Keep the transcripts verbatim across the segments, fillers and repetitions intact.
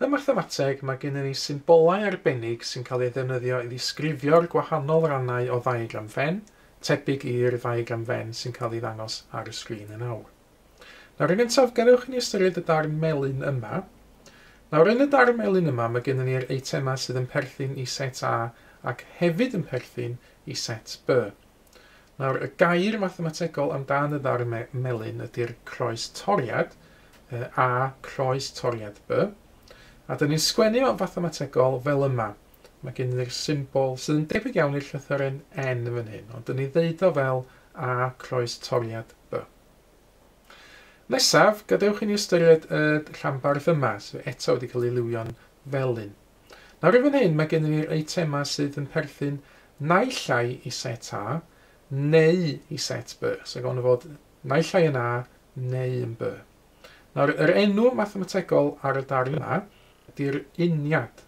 Ym mathemateg, mae gennym ni symbolau arbennig sy'n cael eu ddefnyddio i ddisgrifio'r gwahanol rannau o ddiagram Venn, tebyg i'r ddiagram Venn sy'n cael ei ddangos ar y sgrin yn awr. Nawr, yn gyntaf, gadewch i ni ystyried y darn melyn yma. Nawr, yn y darn melyn yma, mae gennym ni'r eitemau sydd yn perthyn i set A ac hefyd yn perthyn i set B. Nawr, y gair mathemategol amdan y ddarn me melyn ydy'r croes toriad, A croes toriad B. A dyn ni'n sgwennu o'n fathemategol fel yma. Mae gen ni'r symbol sydd yn debyg iawn i'r llythyren N yn fan hyn, ond dyn ni ddeud o fel A croes toriad B. Nesaf, gadewch i ni ystyried y rhanbarth yma, sydd eto wedi cael ei liwio'n felyn. Nawr i fan hyn, mae gen ni'r eitemau sydd yn perthyn naill ai i set A neu i set B. So gawn fod naill ai yn A neu yn B. Nawr, yr enw mathemategol ar y darn yma ydy'r uniad.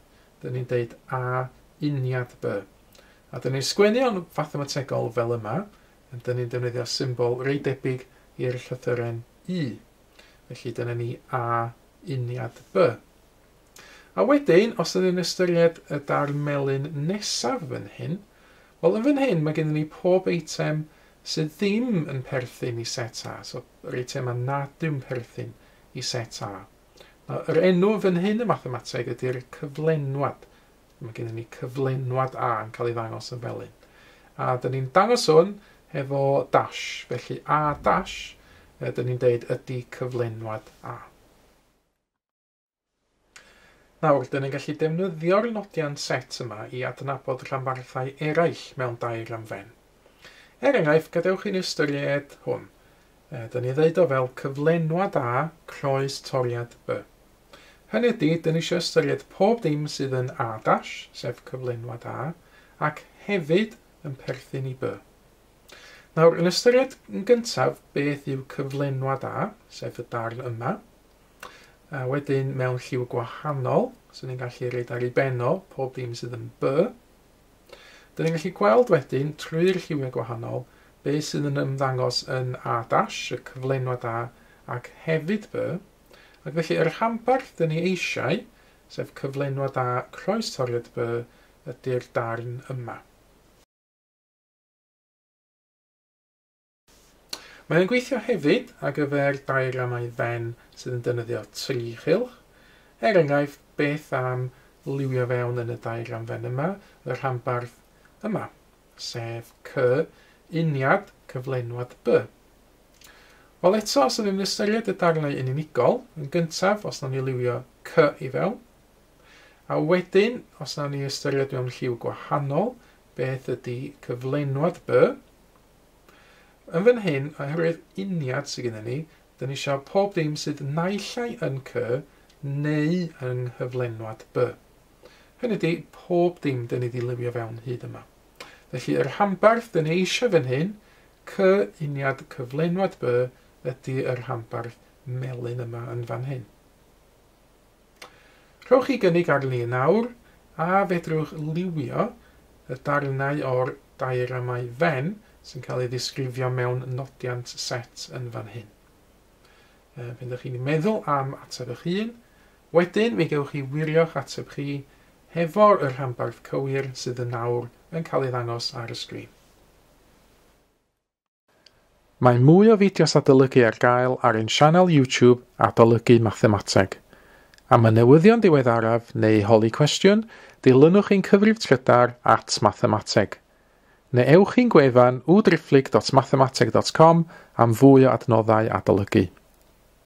Dyn ni'n deud A uniad B. A dyn ni'n sgwennu o'n fathemategol fel yma, a dyn ni'n defnyddio symbol reit debyg i'r llythyren I. Felly dyna ni A uniad B. A wedyn, os ydyn ni'n ystyried y darn melyn nesaf fan hyn, wel yn fan hyn mae gennym ni pob eitem sydd ddim yn perthyn i set A, so yr eitemau nad yw'n perthyn i set A. Nawr, yr enw fan hyn y mathemateg ydy'r cyflenwad. Mae gennym ni cyflenwad A yn cael ei ddangos yn felyn. A dyn ni'n dangos hwn hefo dash, felly A dash, dyn ni'n deud ydy cyflenwad A. Nawr, dyn ni'n gallu defnyddio'r nodiant set yma i adnabod rhanbarthau eraill mewn diagram Venn. Er enghraifft, gadewch i ni ystyried hwn. Dyn ni ddeud o fel cyflenwad A croes toriad B. Hynny ydy, dyn ni eisiau ystyried pob dim sydd yn A dash, sef cyflenwad A, ac hefyd yn perthyn i B. Nawr, yn ystyried yn gyntaf beth yw cyflenwad A, sef y darn yma, a wedyn mewn lliw gwahanol, so ni'n gallu reid ar ei ben o pob dim sydd yn B. Dyn ni'n gallu gweld wedyn, trwy'r lliwiau gwahanol, beth sydd yn ymddangos yn A dash, y cyflenwad A, ac hefyd B. Ac felly, yr rhanbarth dyn ni eisiau, sef cyflenwad A croes toriad B, ydy'r darn yma. Mae'n gweithio hefyd ar gyfer diagramau Venn sydd yn defnyddio tri chylch. Er enghraifft, beth am liwio fewn yn y diagram Venn yma, y rhanbarth yma, sef C uniad cyflenwad B. Wel eto, os ydym ni'n ystyried y darnau yn unigol, yn gyntaf, os nawn ni liwio C i fewn, a wedyn, os nawn ni ystyried mewn lliw gwahanol, beth ydy cyflenwad B. Yn fan hyn, oherwydd uniad sydd gennym ni, dyn ni eisiau pob dim sydd naill ai yn C neu yng nghyflenwad B. Hynny ydy, pob dim dyn ni wedi liwio fewn hyd yma. Felly, yr rhanbarth dyn ni eisiau fan hyn, C uniad cyflenwad B, ydy yr rhanbarth melyn yma yn fan hyn. Rhowch chi gynnig arni yn awr, a fedrwch liwio y darnau o'r diagramau Venn sy'n cael ei ddisgrifio mewn nodiant set yn fan hyn. Pan ydych chi'n meddwl am ateb eich hun, wedyn mi gewch chi wirio'ch ateb chi hefo'r rhanbarth cywir sydd yn awr yn cael ei ddangos ar y sgrin. Mae mwy o fideos adolygu ar gael ar ein sianel YouTube Adolygu Mathemateg. Am y newyddion diweddaraf neu holi cwestiwn, dilynwch ein cyfrif trydar at mathemateg. Neu ewch i'n gwefan w driphlyg dot mathemateg dot com am fwy o adnoddau adolygu.